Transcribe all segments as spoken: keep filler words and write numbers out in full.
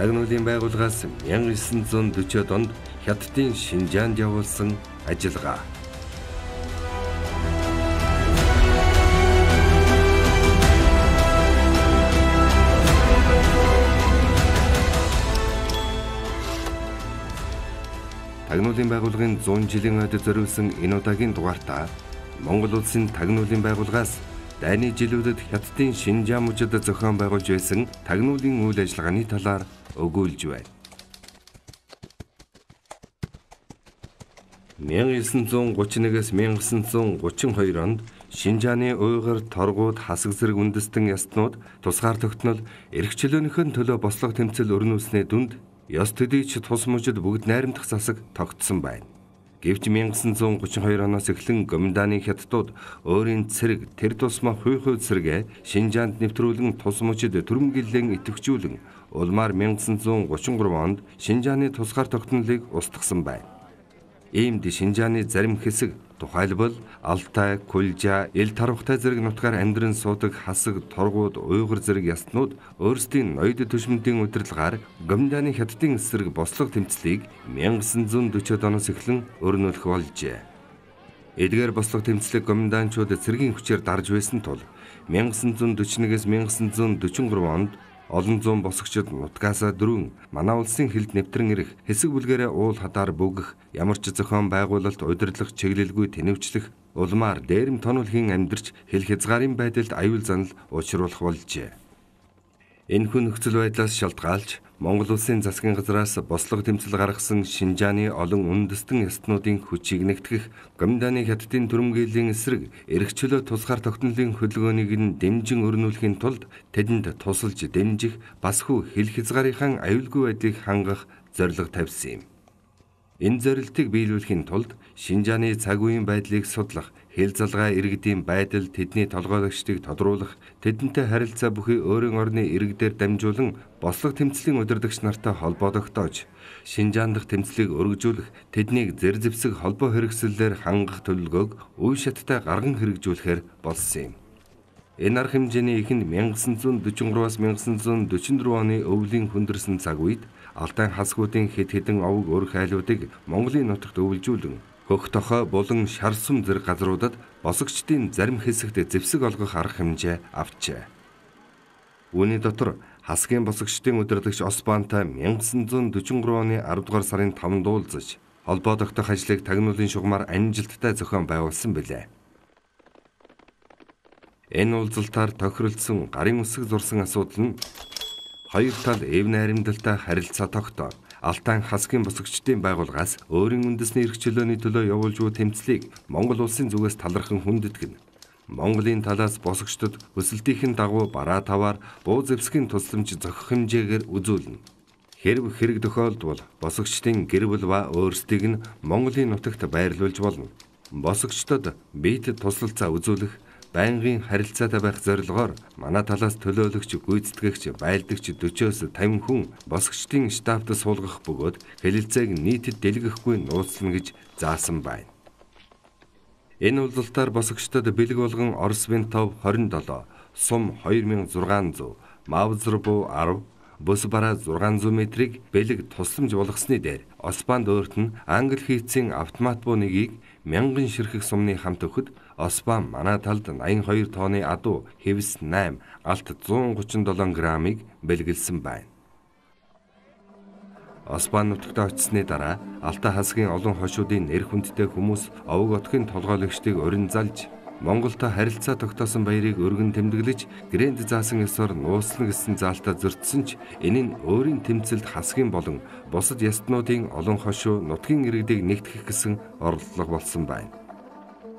Тагнуулын байгууллагаас мянга девятьсот сорок онд Хятадын Шинжаанд явуулсан ажиллагаа. Тагнуулын байгууллагын зуун жилийн ойд зориулсан энэ удаагийн дугаартаа Монгол улсын тагнуулын байгууллагаас дайны жилүүдэд Хятадын Шинжаан мужид зохион байгуулж байсан тагнуулын үйл ажиллагааны талаар өгүүлж байна. мянга девятьсот гурван нэгээс мянга девятьсот гурван хоёр онд Шинжааны уйгар, торгууд, хасаг зэрэг үндэстэн ястнууд тусгаар тогтнол эрх чөлөөнийхөө төлөө бослого тэмцэл өрнүүлснээ дүнд ёс төдийч тус мужид бүгд найрамдах засаг тогтсон байна. Гэвч мянга девятьсот гурван хоёр оноос эхлэн Гоминдааны хятадууд өөрийн цэрэг тэр тусмаа хуй хуй цэрэгэ Шинжаанд нэвтрүүлэн тус мужид түрэмгийлэн идэвхжүүлэн улмаар мянга девятьсот гурван гурван онд Шинжааны тусгаар тогтнолыг устгасан байна. Иймд Шинжааны зарим хэсэг тухайлбал Алтай, Кулжа, Ил Тарвахтай зэрэг нутгаар амьдран суудаг хасаг, торгууд, уйгар зэрэг ястнууд өөрсдийн ноёд төшмөндийн удирдлагаар Гоминдааны хятадын эсрэг бослого тэмцлийг мянга девятьсот сорок оноос эхлэн өрнүүлэх болжээ. Эдгээр бослого тэмцлийг гоминдаанчууд цэргийн хүчээр дарж байсан тул мянга девятьсот сорок нэгээс мянга девятьсот сорок гурван онд олон зуун босгочид нутгаасаа дөрвөн манай улсын хилд нэвтрэн ирэх хэсэг бүлгэрээ уул хадаар бүгэх ямар ч зохион байгуулалт удирдлах чиглэлгүй тэнэвчлэх улмаар дээрэм тонолхийн амьдарч хэл хязгаарын байдалд аюул занал учруулах болжээ. Энэхүү нөхцөл байдлаас шалтгаалж Монгол улсын засгийн газраас бослого тэмцэл гаргасан Шинжааны олон үндэстэн ястнуудын хүчийг нэгтгэх Гоминдааны хятадын түрэмгийллийн эсрэг эрх чөлөө тусгаар тогтнолын хөдөлгөөнийг нь дэмжин өрнүүлэхийн тулд тэдэнд тусалж дэмжих бас хүү хэл хязгаарынхаа аюулгүй байдлыг хангах зорилго тавьсан юм. Энэ зорилтыг биелүүлэхийн тулд Шинжааны цаг үеийн байдлыг судлах, хэл залгай иргэдийн байдал, тэдний толгойлогчдыг тодруулах, тэдэнтэй харилцаа бүхий өөрийн орны иргэдээр дамжуулан бослого тэмцлийн удирдагч нартай холбоо тогтоож, Шинжаан дахь тэмцлийг өргөжүүлэх, тэднийг зэр зэвсэг холбоо хэрэгслэлээр хангах төлөвлөгөөг үе шаттай гарган хэрэгжүүлэхээр болсон юм. Энэ арга хэмжээний эхэнд мянга девятьсот сорок гураваас мянга девятьсот сорок дөрвөн оны өвлийн хүндэрсэн цаг үед Алтай хасгуудын хэд хэдэн овог өр хайлуудыг Монголын нутагт өвлжүүлэн хөх тохой булан шар сум зэрэг газруудад босгочдын зарим хэсэгт зэвсэг олгох арга хэмжээ авчээ. Үүний дотор хасгийн босгочдын удирдагч Осбантай мянга девятьсот сорок гурван оны аравдугаар сарын таванд уулзаж холбоо тогтоох ажлыг тагнуулын шугамар амжилттай зохион байгуулсан билээ. Энэ уулзалтаар тохиролцсон гарын үсэг зурсан асуудал нь хоёр тал эв найрамдалтай харилцаа тогтоо Алтай хасгийн босгочдын байгууллагаас өөрийн үндэсний эрх чөлөөний төлөө явуулж буй тэмцлийг Монгол улсын зүгээс талархан хүндэтгэн. Монголын талаас босгочдод өсөлтийн дагуу бараа таваар буу зэвсгийн тусламж зохих хэмжээгээр үзүүлнэ. Хэрв хэрэг тохиолдвол босгочдын гэр бүл ба өөрсдийг нь Монголын нутагт байрлуулж болно. Босгочдод биед туслалцаа үзүүлэх, байнгын харилцаатай байх зорилгоор манай талаас төлөөлөгч, гүйцэтгэгч, байлдагч forty-оос фifty хүн босгочдын штабт суулгах бөгөөд хэлэлцээг нийтэд дэлгэхгүй нууцлана гэж заасан байна. Энэ уулзалтаар босгочдод бэлэг болгон Орос Винтов twenty seven, Сум two thousand six hundred, Мавзрбу ten, Бус бараа six hundred метрийг бэлэг тусламж болгосны дээр Осбанд өөрт нь англи хийцийн автомат буу нэгийг мянган ширхэг сумны хамт өгөхөд Осбан манай талд ninety-two тонны адуу хэвс eight, галт one thirty-seven граммыг бэлгэлсэн байна. Осбан нутагт очсны дараа Алтай хасгийн олон хошуудын нэр хүндтэй хүмүүс овог отгийн толгойлогчдыг урин залж Монголтой харилцаа тогтоосон баярыг өргөн тэмдэглэж грэнд заасан ёсоор нууцлана гэсэн заалтаа зөрчсөн ч энэ нь өөрийн тэмцэлд хасгийн болон бусад ястнуудын олон хошуу нутгийн иргэдийг нэгтгэх гэсэн оролдлого болсон байна.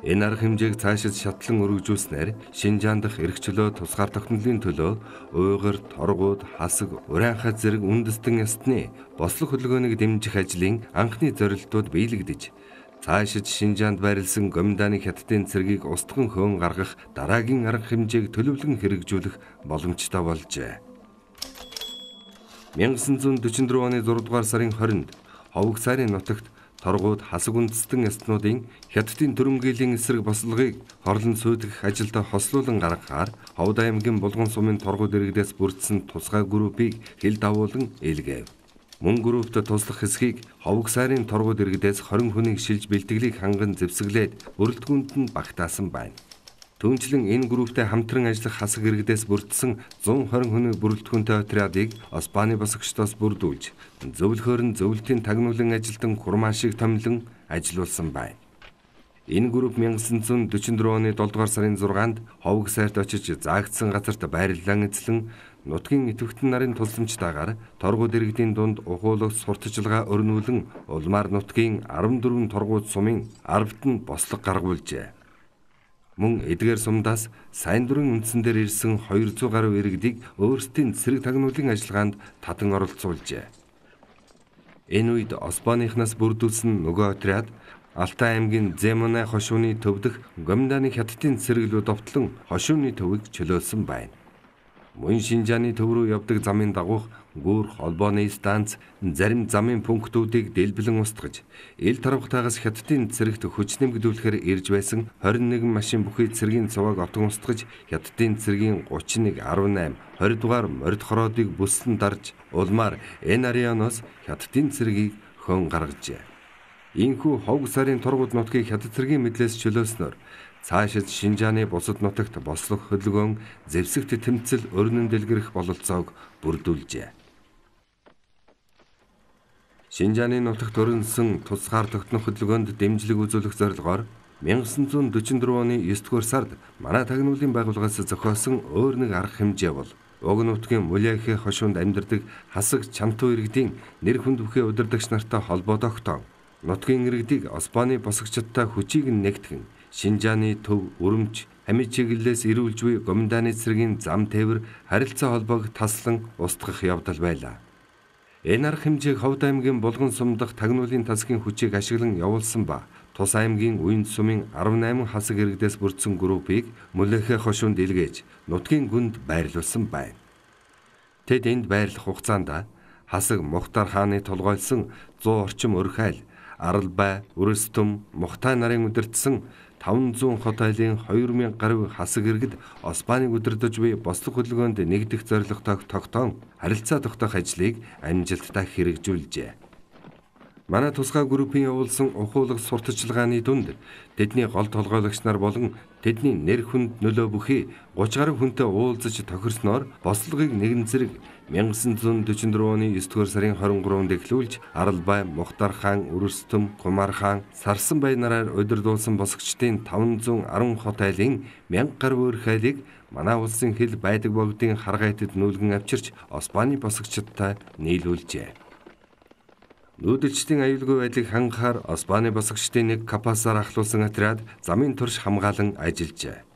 Энэ арга хэмжээг цаашид шатлан өргөжүүлснээр Шинжаан дахь эрх чөлөө тусгаар тогтнолын төлөө уйгар, торгууд, хасаг, урианхай зэрэг үндэстэн ястны бослого хөдөлгөөнийг дэмжих ажлын анхны зорилтууд биелэгдэж цаашид Шинжаанд байрласан Гоминдааны хятадын цэргийг устган хөөн гаргах дараагийн арга хэмжээг төлөвлөн хэрэгжүүлэх боломжтой болжээ. мянга девятьсот сорок four оны six дугаар сарын twentyнд Ховг сайрын нутагт торгууд хасаг үндэстэн ястнуудын хятадын төрөмгөлийн эсрэг бослогыг хорлон сүйтгэх ажилд хослуулан гаргахаар Ховд аймгийн Булган сумын торгууд иргэдээс бүрдсэн тусгай группийг хил давуулан илгээв. Мөн группт туслах хэсгийг Ховг сайрын торгууд иргэдээс хорин хүнийг шилж бэлтгэлийг ханган зэвсэглээд бүрэлдэхүүнд нь багтаасан байна. Түүнчлэн энэ групптэй хамтран ажиллах хасаг иргэдээс бүрдсэн зуун хорин хүний бүрэлдэхүүнтэй отрядыг Оспаны босгочдоос бүрдүүлж, зөвлөхөөр нь зөвлөлтийн тагнуулан ажилтан хурмаа шиг томилон ажиллуулсан байна. Энэ групп 천구 사백사십사 оны долдугаар сарын зургаанд Ховг сайрт очиж заагдсан газарт байрлалан эзлэн нутгийн идэвхтэн нарын тулсамжтайгаар торгууд иргэдийн дунд ухуулах сурталчилгаа өрнүүлэн улмаар нутгийн арван дөрвөн торгууд сумын арвд нь бослог гаргуулжээ. Мөн эдгээр сумдаас сайн дурын үндсэн дээр ирсэн хоёр зуун гаруй иргэдийг өөрсдийн цэрэг тагнуулын ажиллагаанд татан оролцуулжээ. Энэ үед Оспаныхнаас бүрдүүлсэн нөгөө отряд Алтай аймгийн Земонай хошууны төв дэх Гомданы хятадын цэрэглүүд довтлон хошууны төвийг чөлөөлсөн байна. Мөн Шинжааны төв рүү явдаг замын дагуух гүүр холбооны станц зарим замын пунктуудыг дэлбэлэн устгаж, ил тарвахтаагаас хятадын цэрэгт хүч нэмэгдүүлэхээр ирж байсан двадцать один машин бүхий цэргийн цуваг отон устгаж, хятадын цэргийн тридцать one, арван восемь, twenty дугаар морд хороодыг бүслэн дарж, улмаар энэ ареаноос хятадын цэргийг хөн гаргажээ. Ийхүү Ховг сайрын торгууд нутгийг хятад цэргийн мэдлээс чөлөөснөөр цаашид Шинжааны бусад нутагт бослох хөдөлгөөн зэвсэгт тэмцэл өрнөн дэлгэрэх бололцоог бүрдүүлжээ. Шинжааны нутагт өрнсөн тусгаар тогтнох хөдөлгөөнд дэмжлэг үзүүлэх зорилгоор 천구 사백사십사 оны девять дугаар сард манай тагнуулын байгууллагаас зохиосон өөр нэг арга хэмжээ бол уг нутгийн Мулехе хошуунд амьдардаг хасаг чамтуу иргэдийн нэр хүнд бүхий удирдагч нартай холбоо тогтоон нутгийн иргэдийг Оспаны босгочдтой хүчийг нэгтгэн Шинжааны төв, Өрөмч, Хамид чиглэлээс ирүүлж буй Гомданы цэргийн зам тээвэр харилцаа холбоог таслан устгах явдал байлаа. Энэ арга хэмжээг Ховд аймгийн Булган сум дахь тагнуулын тасгийн хүчийг ашиглан явуулсан ба Тус аймгийн Уянд сумын арван восемь хасаг иргэдээс бүрдсэн группийг Мулехе хошуунд илгээж нутгийн гүнд байрлуулсан байна. Тэд энд байрлах хугацаанд хасаг Мухтар хааны толгойлсон сто орчим өрхайл, Аралбай, Үрэстөм, Мухтай нарын удирдсан таван зуун хот айлын two thousand гаруй хасаг иргэд Оспаныг удирдах буй бослог хөдөлгөөнд нэгдэх зорилготой тогтоон харилцаа тогтоох ажлыг амжилттай хэрэгжүүлжээ. Манай тусгай группийн явуулсан ухуулах сурталчилгааны дунд тэдний гол толгойлогч нар болон тэдний нэр хүнд нөлөө бүхий thirty гаруй хүнтэй уулзаж тохирсноор бослогыг нэгэн зэрэг 천구 사백사십사 оны девять дугаар сарын twenty-third-нд эхлүүлж Аралбай, Мухтар хаан, Үрэстөм, Кумар хаан, Сарсанбай нараар удирдуулсан босгочдын five hundred ten хот айлын one thousand гаруй өрх айлыг манай улсын хил байдаг богдын харгайтад нүүлгэн авчирч Оспаны босгочдтой нийлүүлжээ. Нүүдэлчдийн аюулгүй байдлыг хангахаар Оспаны босгочдын нэг капасаар ахлуулсан отряд замын турш хамгаалан ажиллажээ.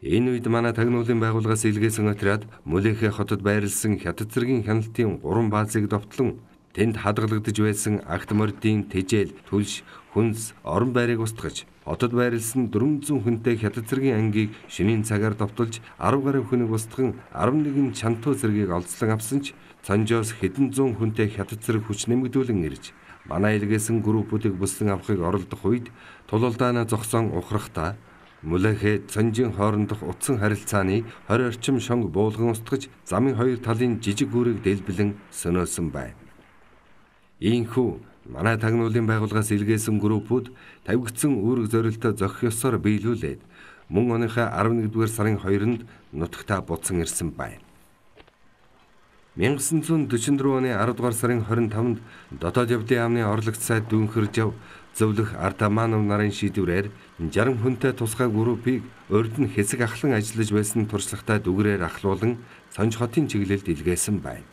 Энэ үед манай тагнуулын байгууллагаас илгээсэн отряд Мулехе хотод байрласан хятад цэргийн хяналтын гурван баазыг довтлон тэнд хадгалагдж байсан агт мордын тэжээл, түлш, хүнс, орон байрыг устгаж, хотод байрласан four hundred хүнтэй хятад цэргийн ангийг шөнийн цагаар довтолж ten гаруй хүнийг устган eleven чамтуу цэргийг олзлон авсан ч Цанжоос хэдэн зуун хүнтэй хятад цэрэг хүч нэмэгдүүлэн ирж манай илгээсэн группуудыг бүслэн авахыг оролдох үед тулалдаанаа зогсоон ухрахтаа Мулехе Цанжийн хоорондох утсан харилцааны twenty орчим шонг буулган устгаж замын хоёр талын жижиг гүүрийг дэлбэлэн сөнөөсөн байна. Ийхүү манай тагнуулын байгууллагаас илгээсэн группууд тавигдсан үүрэг зорилтоо зохих ёсоор биелүүлээд мөн оныхаа eleventh дугаар сарын second-нд нутагтаа буцан ирсэн байна. 천구 사백사십사 оны ten дугаар сарын twenty-fifth-нд дотоод явдлын яамны орлогч сайд дүүнхэрж яв зөвлөх Артаманов нарын шийдвэрээр sixty хүнтэй тусгай группийг урд нь хэсэг ахлан ажиллаж байсан туршлагатай дүгрээр ахлуулан Сонж хотын чиглэлд илгээсэн байна.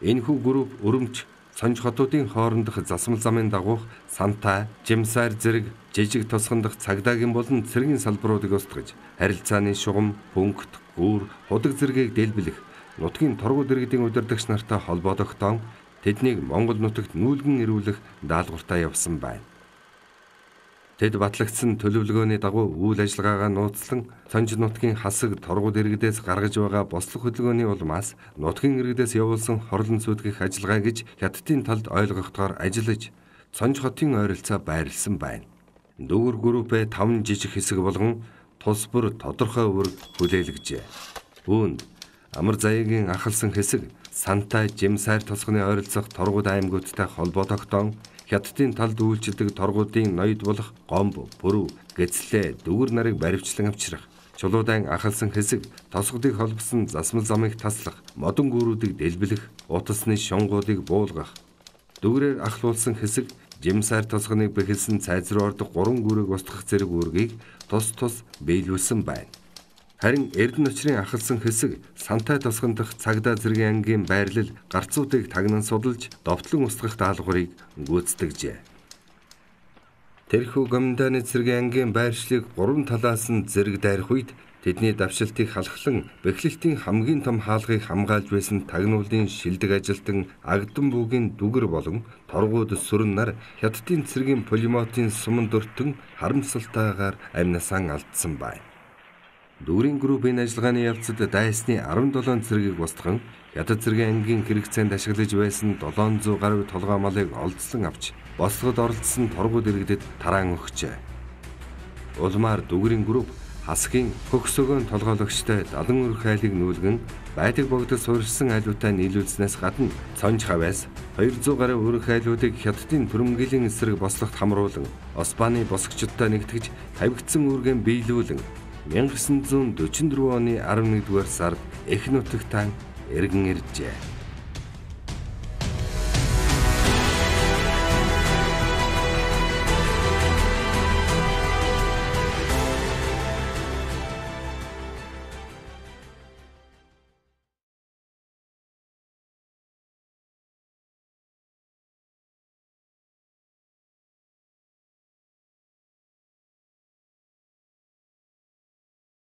Энэхүү групп Өрөмч, Сонж хотуудын хоорондох засмал замын дагуух Сантай, Жимсайр зэрэг жижиг тосгондох цагдаагийн болон цэргийн салбаруудыг устгаж харилцааны шугам, пункт, гүүр, худаг зэргийг дэлбэлэх нутгийн торгууд иргэдийн удирдагч нартай холбоо тогтоон тэднийг Монгол нутагт нүүлгэн ирүүлэх даалгавартай явсан байна. Тэд батлагдсан төлөвлөгөөний дагуу үйл ажиллагаагаа нууцлан Сонж нутгийн хасаг торгууд иргэдээс гаргаж байгаа бослог хөдөлгөөний улмаас нутгийн иргэдээс явуулсан хорлон сүйтгэх ажиллагаа гэж хятадын талд ойлгохдоор ажиллаж Цонж хотын ойролцоо байрласан байна. Дүүгэр группээ таван жижиг хэсэг болгон тус бүр тодорхой үүрэг хүлээлгэжээ. Үүнд амар заяагийн ахалсан хэсэг Сантай Жимсайр тосгоны ойролцох торгууд аймагуудтай холбоо тогтоон Хятадын талд үйлчилдэг торгуудын ноёд болох Гомбо, Пүрүү, Гэцлээ, Дүгэр нарыг баривчлан авчрах, чулуудан ахалсан хэсэг тосгодыг холбосон засмал замыг таслах, модон гүүрүүдийг дэлбэлэх, утасны шонгуудыг буулгах. Дүгрээр ахлуулсан хэсэг Жимсайр тосгоныг бэхэлсэн цайз руу ордог гурван гүүрийг устгах зэрэг үүргийг тус тус биелүүлсэн байна. Харин Эрдэнэ очрын ахалсан хэсэг Сантай тосгон дахь цагдаа зэргийн ангийн байрлал гарцуудыг тагнан судалж довтлон устгах даалгаврыг гүйцэтгэжээ. Тэрхүү гомданы зэргийн ангийн байршлыг гурван талаас нь зэрэг дайрах үед тэдний давшилтыг халахлан бэхлэлтийн хамгийн том хаалгыг хамгаалж байсан тагнуулын шилдэг ажилтан Агдам буугийн Дүгэр болон торгууд сүрэн нар Хятадын цэргийн пулеметийн суман дөртөн харамсалтайгаар амнасаа алдсан байна. Дүгрийн группийн ажиллагааны явцад дайсны арван долоон цэргийг устган Хятад цэргийн ангийн хэрэгцээнд ашиглаж байсан долоон зуун гаруй толгой малыг олдсон авч бослогод оролцсон торгууд иргэдэд тараан өгчээ. Улмаар Дүгрийн групп хасгийн хөгсөгөөн толгойлогчтой далан өрх айлыг нүүлгэн байдаг богдод суурьсан айлуудаа нийлүүлснээс гадна цонж хавьяас хоёр зуун гаруй өрх айлуудыг Хятадын түрэмгилийн эсрэг бослогт хамруулан Османы босгочдтой нэгтгэж тавигдсан үүргэн биелүүлэн мянга девятьсот дөрвөн оны арван нэгдүгээр сард Эх нутагтаа эргэн иржээ.